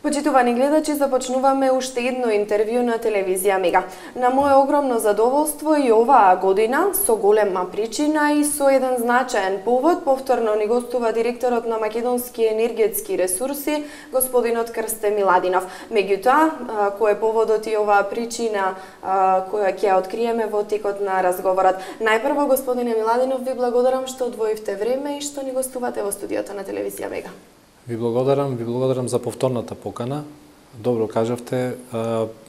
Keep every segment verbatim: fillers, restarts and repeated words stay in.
Почитувани гледачи, започнуваме уште едно интервју на телевизија Мега. На моје огромно задоволство и оваа година, со голема причина и со еден значаен повод, повторно ни гостува директорот на Македонски енергетски ресурси, господинот Крсте Миладинов. Меѓутоа, кој е поводот и оваа причина која ќе ја откриеме во текот на разговорот. Најпрво, господине Миладинов, ви благодарам што одвоивте време и што ни гостувате во студиото на телевизија Мега. Ви благодарам, ви благодарам за повторната покана. Добро кажавте,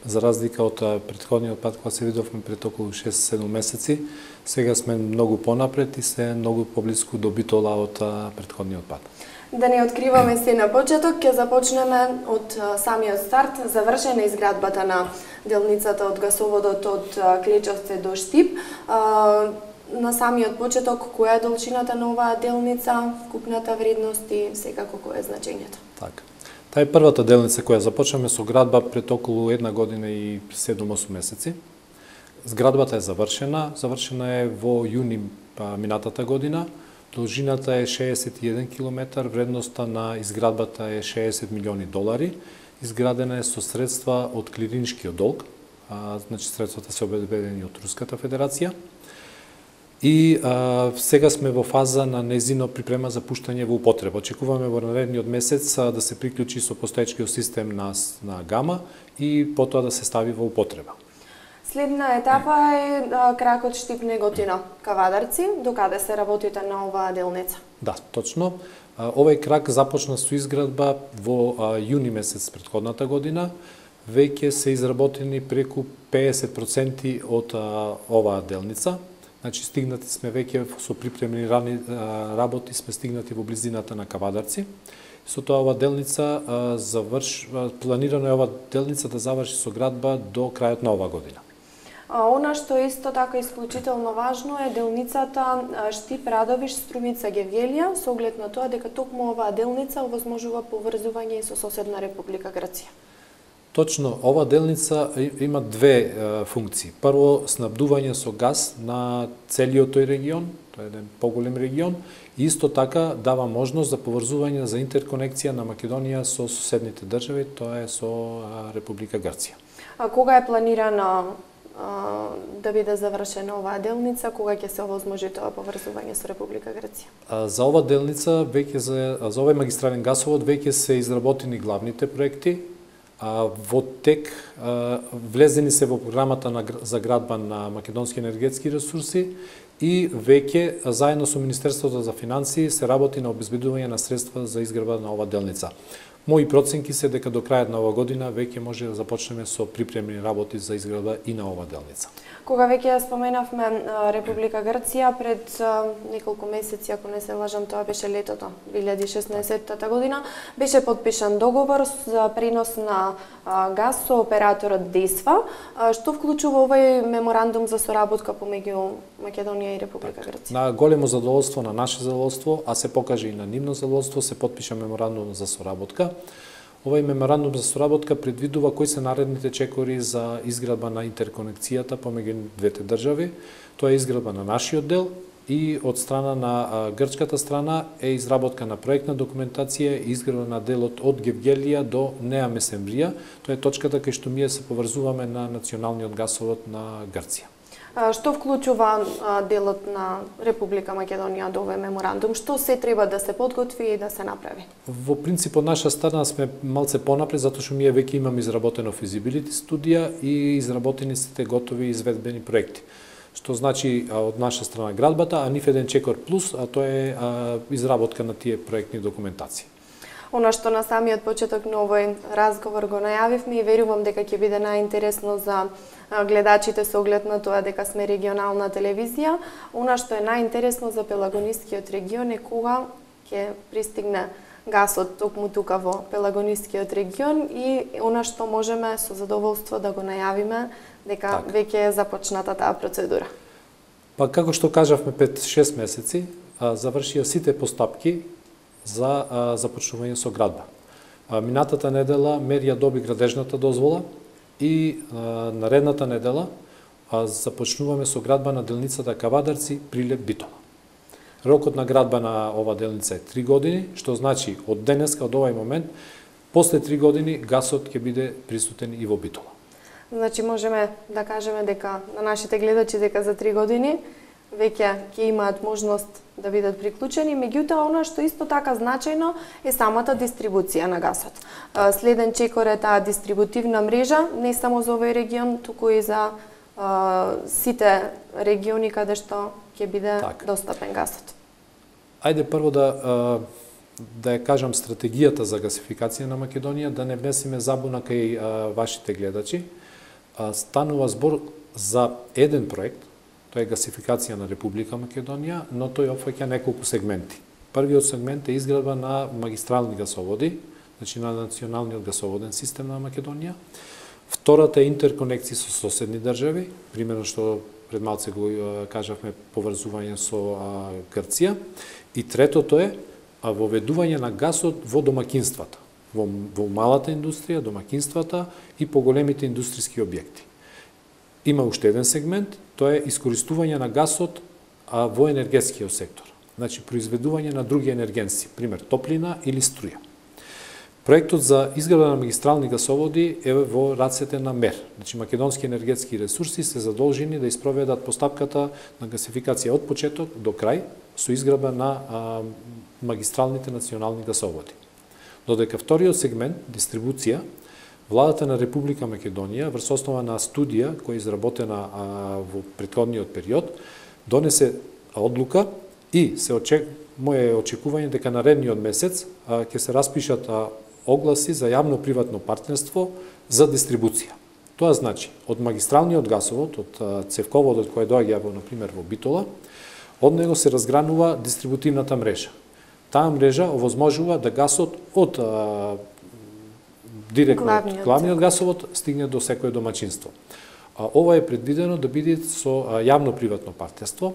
за разлика од претходниот пат кога се видовме пред околу шест-седум месеци, сега сме многу понапред и се многу поблиску до битола од претходниот пат. Да не откриваме се на почеток, ќе започнеме од самиот старт, завршена изградбата на делницата од гасоводот од Клечовце до Штип. На самиот почеток, која е должината на оваа делница, купната вредност и секако кој е значењето? Така. Таа е првата делница која започнаме со градба пред околу една година и седум-осум месеци. Зградбата е завршена, завршена е во јуни минатата година. Должината е шеесет и еден километар, вредноста на изградбата е шеесет милиони долари. Изградена е со средства од клириншкиот долг, а, значи средствата се обезбедени од Руската федерација. И а, сега сме во фаза на незино припрема за пуштање во употреба. Очекуваме во наредниот месец а, да се приклучи со постоечкиот систем на, на Гама и потоа да се стави во употреба. Следна етапа е а, кракот Штип-Неготино Кавадарци. Докаде се работите на оваа делница? Да, точно. А, овој крак започна со изградба во а, јуни месец претходната година. Веќе се изработени преку педесет проценти од а, оваа делница. Значи, стигнати сме веќе со припремни рани работи, сме стигнати во близината на Кавадарци. Со тоа ова делница заврш, планирано е ова делница да заврши со градба до крајот на оваа година. А, она што е исто така исклучително важно е делницата Штип Радовиш Струмица Гевгелија, со оглед на тоа дека токму оваа делница овозможува поврзување и со соседна Република Грција. Точно, ова делница има две е, функции. Прво, снабдување со газ на целиот тој регион, тоа е еден поголем регион, и исто така дава можност за поврзување за интерконекција на Македонија со соседните држави, тоа е со а, Република Грција. А кога е планирано а, да биде завршена оваа делница, кога ќе се овозможи тоа поврзување со Република Грција? А, за ова делница, веќе за, за овој магистрален гасовод, веќе се изработени главните проекти. А, во тек а, влезени се во програмата на, за градба на Македонски енергетски ресурси и веќе заедно со Министерството за финансии се работи на обезбедување на средства за изградба на ова делница. Мои проценки се дека до крајот на оваа година веќе може да започнеме со припремни работи за изградба и на ова делница. Кога веќе ја споменавме Република Грција, пред неколку месеци, ако не се лажам, тоа беше летото, две илјади и шеснаесетта година, беше подпишан договор за пренос на газ со операторот Десфа, што вклучува овој меморандум за соработка помеѓу Македонија и Република Грција. На големо задоволство, на наше задоволство, а се покаже и на нивно задоволство, се подпиша меморандум за соработка. Овој меморандум за соработка предвидува кои се наредните чекори за изградба на интерконекцијата помеѓу двете држави. Тоа е изградба на нашиот дел и од страна на грчката страна е изработка на проектна документација и изградба на делот од Гевгелија до Неа Месемврија. Тоа е точката кај што ние се поврзуваме на националниот гасовод на Грција. Што вклучува делот на Република Македонија до овој меморандум? Што се треба да се подготви и да се направи? Во принцип, од наша страна сме малце понапред, затоа што ние веќе имаме изработено физибилити студија и изработени сите готови изведбени проекти. Што значи од наша страна градбата, а нив еден чекор плюс, а тоа е а, изработка на тие проектни документации. Она што на самиот почеток на овој разговор го најавивме и верувам дека ќе биде најинтересно за гледачите со оглед на тоа дека сме регионална телевизија. Она што е најинтересно за Пелагонискиот регион е кога ќе пристигне гасот токму тука во Пелагонискиот регион и она што можеме со задоволство да го најавиме дека так. Веќе е започната таа процедура. Па како што кажавме пред шест месеци, завршија сите постапки за а, започнување со градба. А, минатата недела Мерија доби градежната дозвола и а, наредната недела а, започнуваме со градба на делницата Кавадарци Прилеп Битола. Рокот на градба на ова делница е три години, што значи од денеска, од овај момент, После три години гасот ќе биде присутен и во Битола. Значи можеме да кажеме дека на нашите гледачи дека за три години веќе ќе имаат можност да бидат приклучени, меѓутоа она што исто така значајно е самата дистрибуција на гасот. Следен чекор е таа дистрибутивна мрежа, не само за овој регион, туку и за а, сите региони каде што ќе биде так достапен гасот. Ајде прво да а, да ја кажам стратегијата за гасификација на Македонија, да не внесеме забуна кај а, вашите гледачи. А, станува збор за еден проект, тоа е гасификација на Република Македонија, но тој опфаќа неколку сегменти. Првиот сегмент е изградба на магистрални гасоводи, значи на националниот гасоводен систем на Македонија. Втората е интерконекција со соседни држави, примерно што пред малце го кажавме поврзување со Грција. И третото е воведување на гасот во домакинствата, во, во малата индустрија, домакинствата и поголемите индустријски објекти. Има уште еден сегмент, тоа е искористување на гасот а, во енергетскиот сектор. Значи, произведување на други енергенси, пример топлина или струја. Проектот за изградба на магистрални гасоводи е во рацете на МЕР. Значи, македонски енергетски ресурси се задолжени да испроведат постапката на гасификација од почеток до крај со изградба на а, магистралните национални гасоводи. Додека вториот сегмент, дистрибуција, Владата на Република Македонија, врз основа на студија која е изработена а, во претходниот период, донесе одлука и се очек... моје очекување дека наредниот месец а, ќе се распишат а, огласи за јавно-приватно партнерство за дистрибуција. Тоа значи, од магистралниот гасовод, од а, цевководот кој доаѓа во, например, во Битола, од него се разгранува дистрибутивната мрежа. Таа мрежа овозможува да гасот од а, директно главниот, главниот гасовод стигне до секое домаќинство. А, ова е предвидено да биде со а, јавно-приватно партнерство,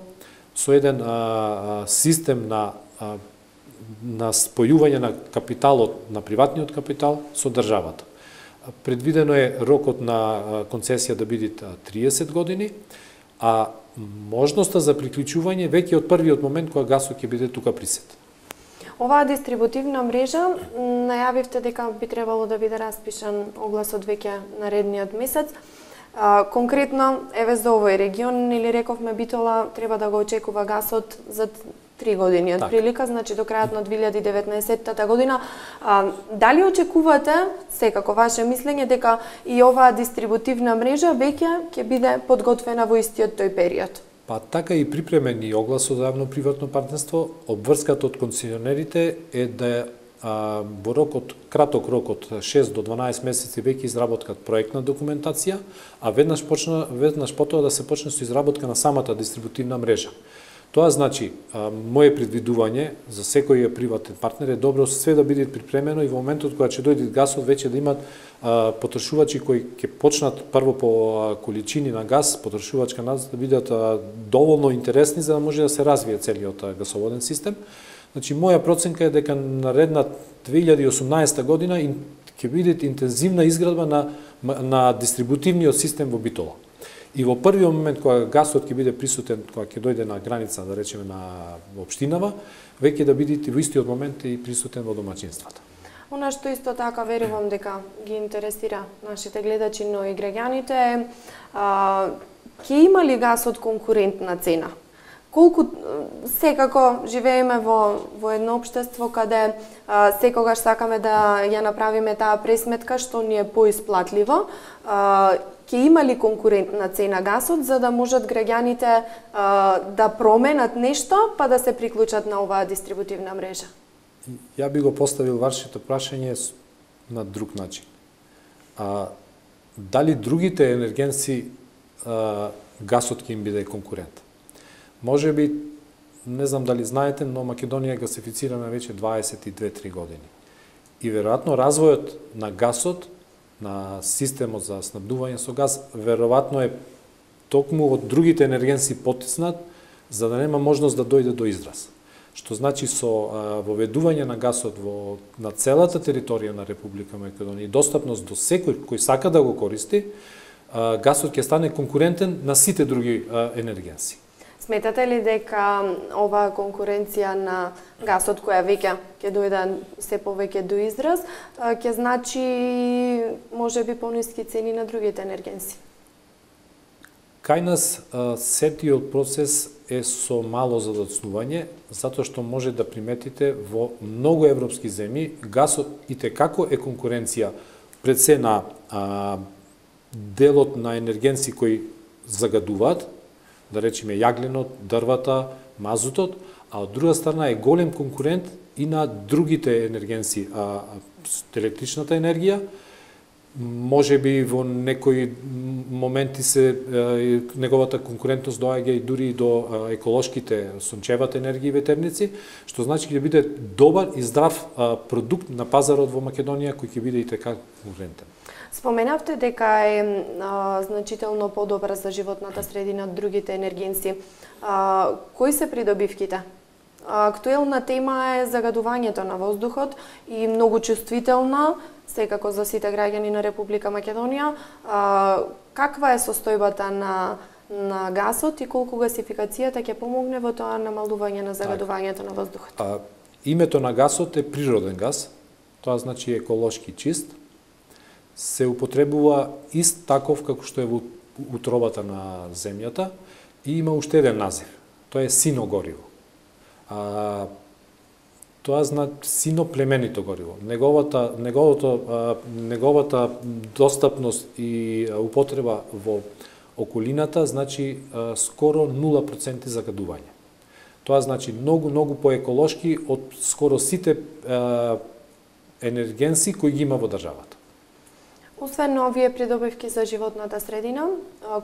со еден а, а, систем на, а, на спојување на капиталот, на приватниот капитал со државата. Предвидено е рокот на концесија да биде триесет години, а можноста за приклучување веќе од првиот момент кога гасот ќе биде тука присутен. Оваа дистрибутивна мрежа, најавивте дека би требало да биде распишан огласот веќе наредниот месец. А, конкретно, еве за овој регион, или рековме Битола, треба да го очекува гасот за три години од прилика, значи до крајот на две илјади и деветнаесетта година. А, дали очекувате, секако ваше мислење, дека и оваа дистрибутивна мрежа веќе ќе биде подготвена во истиот тој период? Па така и припремен и огласот за јавно-приватно партнерство, обврската од концесионерите е да а, во рок од краток рок од шест до дванаесет месеци веќе изработкат проектна документација, а веднаш почна веднаш потоа да се почне со изработка на самата дистрибутивна мрежа. Тоа значи, а, моје предвидување за секој приватен партнер е добро све да биде припремено и во моментот кога ќе дојде гасот веќе да имат а, потрошувачи кои ќе почнат прво по а, количини на газ, потрошувачка нас да бидат а, доволно интересни за да може да се развие целиот а, гасоводен систем. Значи, моја проценка е дека наредна две илјади и осумнаесетта година ќе биде интензивна изградба на, на дистрибутивниот систем во Битола. И во првиот момент кога гасот ќе биде присутен, кога ќе дојде на граница, да речеме на општинава, веќе да биде во истиот момент и присутен во домаќинствата. Она што исто така верувам дека ги интересира нашите гледачи, но и граѓаните е, а, ќе има ли гасот конкурентна цена? Колку секако живееме во во едно општество каде а, секогаш сакаме да ја направиме таа пресметка што ни е поисплатливо, а, ќе има ли конкурентна цена гасот за да можат граѓаните а, да променат нешто па да се приклучат на оваа дистрибутивна мрежа? Ја би го поставил вашето прашање на друг начин. А, дали другите енергенси а, гасот ќе им биде конкурент? Може би, не знам дали знаете, но Македонија е гасифицирана веќе дваесет и две до три години. И веројатно развојот на гасот, на системот за снабдување со газ, веројатно е токму од другите енергенси потиснат, за да нема можност да дојде до израз. Што значи со а, воведување на гасот во, на целата територија на Република Македонија и достапност до секој кој сака да го користи, а, гасот ќе стане конкурентен на сите други а, енергенси. Сметате ли дека оваа конкуренција на гасот, која веќе ќе дојде се повеќе до израз, ќе значи можеби пониски цени на другите енергенси? Кај нас сетиот процес е со мало задоцнување, затоа што може да приметите во многу европски земји гасот итекако е конкуренција пред се на а, делот на енергенси кои загадуваат, да речеме јагленот, дрвата, мазутот, а од друга страна е голем конкурент и на другите енергенси, а, електричната енергија. Може би во некои моменти се е, неговата конкурентност доаѓа и дури до е, еколошките сончевата енергија и ветерници, што значи ќе биде добар и здрав е, продукт на пазарот во Македонија кој ќе биде и така конкурентен. Споменавте дека е а, значително подобра за животната средина од другите енергенси. А, кои се придобивките? Актуелна тема е загадувањето на воздухот и многу чувствителна, секако за сите граѓани на Република Македонија. А, каква е состојбата на, на гасот и колку гасификацијата ќе помогне во тоа намалување на загадувањето на воздухот? А, името на гасот е природен гас, тоа значи еколошки чист. Се употребува ист таков како што е во утробата на земјата и има уште еден назив. Тоа е сино гориво. А, тоа значи сино племенито гориво. Неговата неговото а, неговата достапност и а, употреба во околината значи а, скоро нула проценти загадување. Тоа значи многу многу поеколошки од скоро сите а, енергенси кои ги има во државата. Освен овие придобивки за животната средина,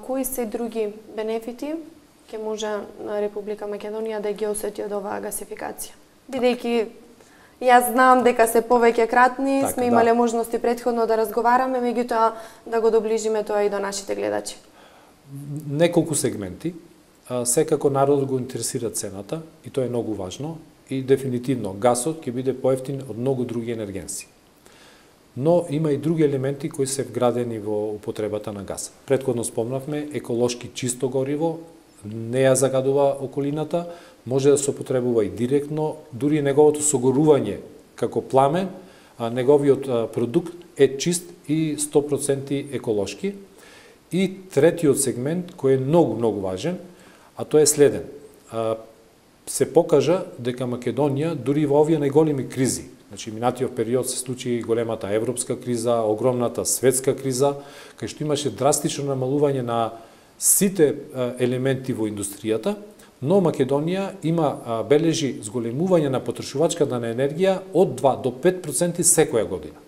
кои се други бенефити ќе може на Република Македонија да ги осети од оваа гасификација? Бидејќи јас знам дека се повеќе кратни, така, сме имале да. можности претходно да разговараме, меѓутоа да го доближиме тоа и до нашите гледачи. Неколку сегменти. Секако народот го интересира цената и тоа е многу важно и дефинитивно гасот ќе биде поевтин од многу други енергенси. Но има и други елементи кои се вградени во употребата на газ. Претходно спомнавме еколошки чисто гориво, не ја загадува околината, може да се употребува и директно, дури неговото согорување како пламен, а неговиот продукт е чист и сто проценти еколошки. И третиот сегмент кој е многу многу важен, а тоа е следен. Се покажа дека Македонија дури во овие најголеми кризи, значи минатиот период се случи големата европска криза, огромната светска криза, кај што имаше драстично намалување на сите елементи во индустријата, но Македонија има бележи зголемување на потрошувачката на енергија од два до пет проценти секоја година.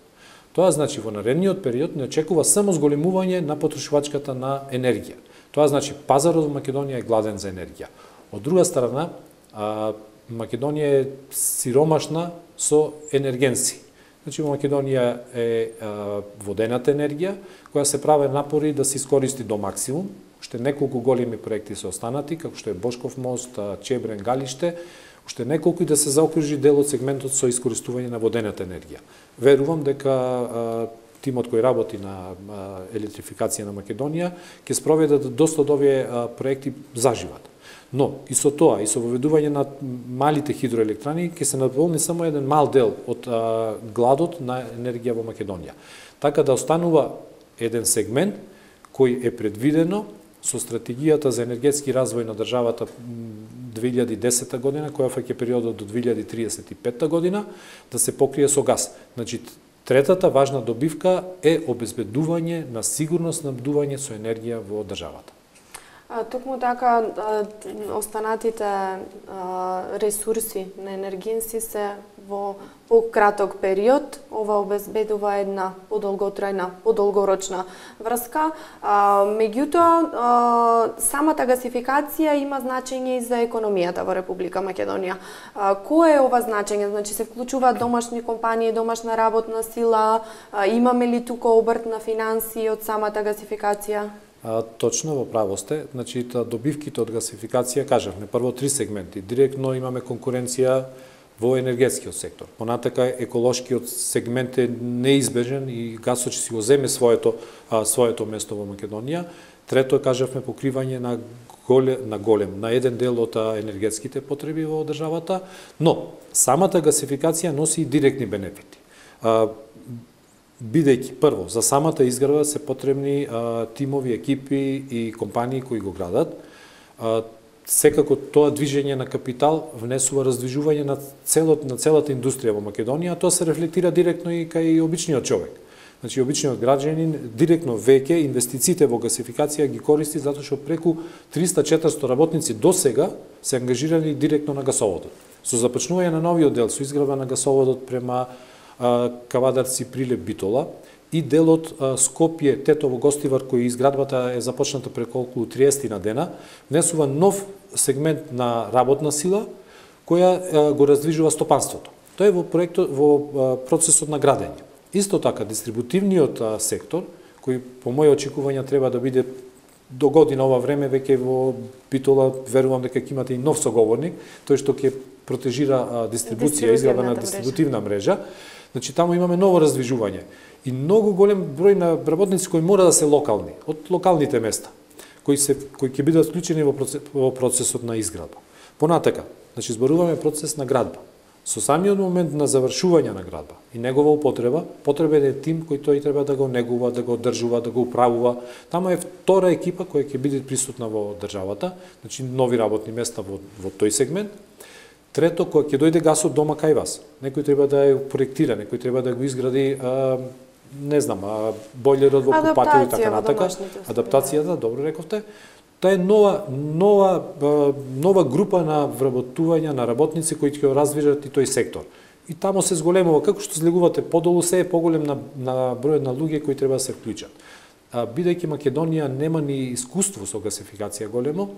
Тоа значи во наредниот период не очекува само зголемување на потрошувачката на енергија. Тоа значи пазарот во Македонија е гладен за енергија. Од друга страна, Македонија е сиромашна со енергенси. Значи, во Македонија е а, водената енергија, која се прави напори да се искористи до максимум. Уште неколку големи проекти се останати, како што е Бошков мост, Чебрен, Галиште, уште неколку и да се заокружи дел од сегментот со искористување на водената енергија. Верувам дека а, тимот кој работи на а, електрификација на Македонија ќе спроведат доста од овие а, проекти заживат. Но и со тоа, и со воведување на малите хидроелектрани, ќе се надполни само еден мал дел од а, гладот на енергија во Македонија. Така да останува еден сегмент кој е предвидено со стратегијата за енергетски развој на државата две илјади и десета година, која фаќа периодот до две илјади триесет и петта година, да се покрие со газ. Значи, третата важна добивка е обезбедување на сигурно снабдување со енергија во државата. Токму така, останатите ресурси на енергенси се во пократок период. Ова обезбедува една подолготрајна, подолгорочна врска. Меѓутоа, самата гасификација има значење и за економијата во Република Македонија. Кое е ова значење? Значи, се вклучуваат домашни компании, домашна работна сила, имаме ли тука обрт на финанси од самата гасификација? А, точно во право сте. Значи, добивките од гасификација, кажавме, прво три сегменти. Директно имаме конкуренција во енергетскиот сектор. Понатака еколошкиот сегмент е неизбежен и гасот ќе си го земе своето, а, своето место во Македонија. Трето, кажавме, покривање на голем, на голем, на еден дел од енергетските потреби во државата, но самата гасификација носи и директни бенефити. Бидејќи, прво, за самата изградба се потребни а, тимови, екипи и компании кои го градат. А, секако тоа движење на капитал внесува раздвижување на, целот, на целата индустрија во Македонија, а тоа се рефлектира директно и кај обичниот човек. Значи, обичниот граѓанин директно веќе инвестициите во гасификација ги користи затоа што преку триста четиристо работници до сега се ангажирани директно на гасоводот. Со започнување на новиот дел, со изградба на гасоводот према Кавадарци, Прилеп, Битола и делот Скопје, Тетово, Гостивар, кој изградбата е започната преку околу триесет на дена, внесува нов сегмент на работна сила која го раздвижува стопанството. Тоа е во проектот, во процесот на градење. Исто така, дистрибутивниот сектор, кој по моје очекувања треба да биде до година ова време, веќе во Битола, верувам дека ќе имате и нов соговорник, тој што ќе протежира дистрибуција, изградба на дистрибутивна мрежа. Значи, таму имаме ново раздвижување и многу голем број на работници кои мора да се локални, од локалните места, кои се кои ќе бидат вклучени во, процес, во процесот на изградба. Понатака, значи зборуваме процес на градба. Со самиот момент на завршување на градба и негова употреба, потребен е тим кој тој треба да го негува, да го одржува, да го управува. Тама е втора екипа која ќе биде присутна во државата, значи нови работни места во, во тој сегмент. Трето, кога ќе дојде гасот дома кај вас, некој треба да ја проектира, некој треба да го изгради, а, не знам, а, бойлерот во купатил и така натака. Адаптацијата, добро рековте. Тоа е нова, нова, нова група на вработување на работници кои ќе развижат и тој сектор. И тамо се зголемува, како што слегувате подолу, се е поголем на, на бројот на луѓе кои треба да се вклучат. А, бидејќи Македонија нема ни искуство со гасификација големо,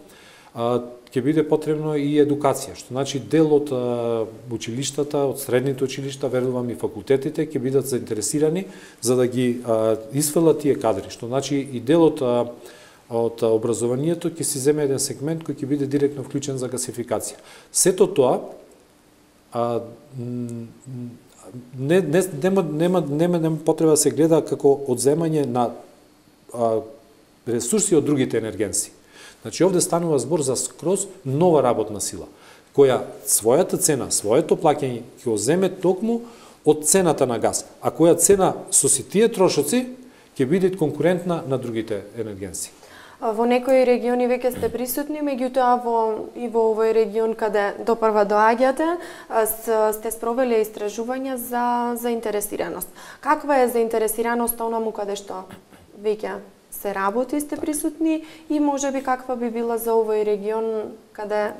ќе биде потребно и едукација, што значи дел од училиштата, од средните училишта, верувам и факултетите, ќе бидат заинтересирани за да ги исфрлат тие кадри, што значи и дел од, од образованието ќе си земе еден сегмент кој ќе биде директно вклучен за гасификација. Сето тоа а, не, не, нема, нема, нема, нема потреба да се гледа како одземање на а, ресурси од другите енергенси. Значи, овде станува збор за скроз нова работна сила, која својата цена, своето плаќање ќе го земе токму од цената на газ, а која цена со си тие трошоци ќе биде конкурентна на другите енергенси. Во некои региони веќе сте присутни, меѓутоа во и во овој регион каде допрва доаѓате, сте спровели истражувања за заинтересираност. Каква е заинтересираноста онаму каде што веќе се работи, сте присутни и можеби каква би била за овој регион каде...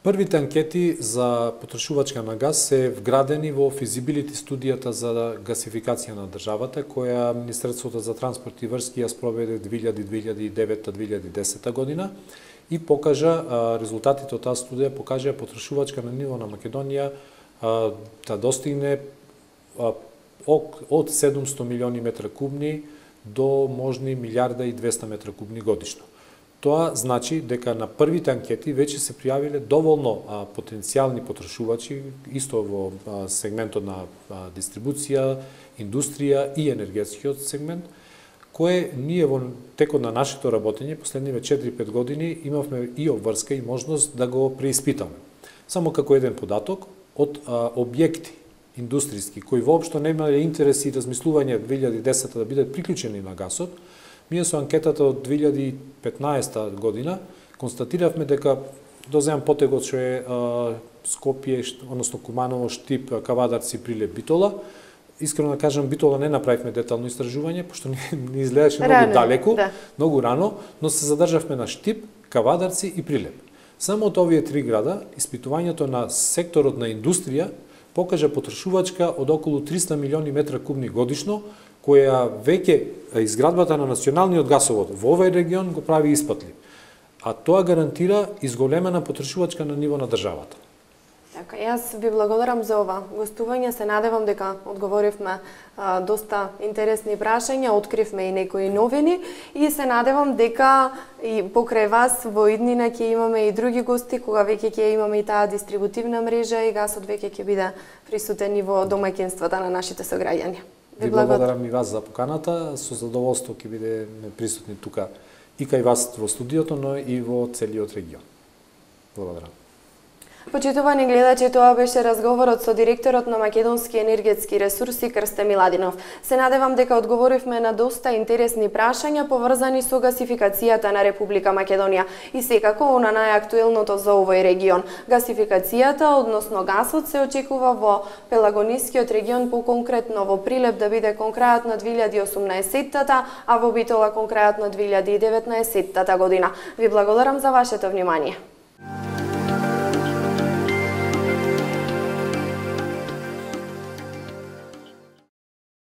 Првите анкети за потрошувачка на газ се вградени во физибилити студијата за гасификација на државата, која Министерството за транспорт и врски ја спроведе две илјади, две илјади и девета, две илјади и десета година и покажа, резултатите од таа студија покажа потрошувачка на ниво на Македонија да достигне од седумсто милиони метра кубни до можни милиарда и двеста метра кубни годишно. Тоа значи дека на првите анкети веќе се пријавиле доволно а, потенцијални потрошувачи, исто во а, сегментот на а, дистрибуција, индустрија и енергетскиот сегмент, кое ние во текот на нашето работење последниве четири-пет години имавме и обврска и можност да го преиспитаме. Само како еден податок од а, објекти индустријски, кои воопшто немале интерес и размислување две илјади и десета да бидат приклучени на гасот, ние со анкетата од две илјади и петнаесета година констатиравме дека, доземам потегот што е а, Скопје, односно Куманово, Штип, Кавадарци, Прилеп, Битола, искрено да кажам, Битола не направивме детално истражување, пошто не, не изгледаше многу далеку, да. Многу рано, но се задржавме на Штип, Кавадарци и Прилеп. Само од овие три града, испитувањето на секторот на индустрија покажа потрошувачка од околу триста милиони метра кубни годишно, која веќе изградбата на националниот гасовод во овој регион го прави испатлив. А тоа гарантира изголемена потрошувачка на ниво на државата. Така, јас ви благодарам за ова гостување, се надевам дека одговоривме а, доста интересни прашања, откривме и некои новини и се надевам дека и покрај вас во иднина ќе имаме и други гости, кога веќе ќе имаме и таа дистрибутивна мрежа и гасот веќе ќе биде присутен и во домаќинствата на нашите сограѓани. Ви благодарам и вас за поканата. Со задоволство ќе бидеме присутни тука и кај вас во студиото, но и во целиот регион. Благодарам. Почитувани гледачи, тоа беше разговорот со директорот на Македонски енергетски ресурси Крсте Миладинов. Се надевам дека одговоривме на доста интересни прашања поврзани со гасификацијата на Република Македонија и секако на најактуелното за овој регион. Гасификацијата, односно гасот, се очекува во Пелагонискиот регион, поконкретно во Прилеп да биде кон крајот на две илјади и осумнаесеттата, а во Битола кон крајот на две илјади и деветнаесеттата година. Ви благодарам за вашето внимание.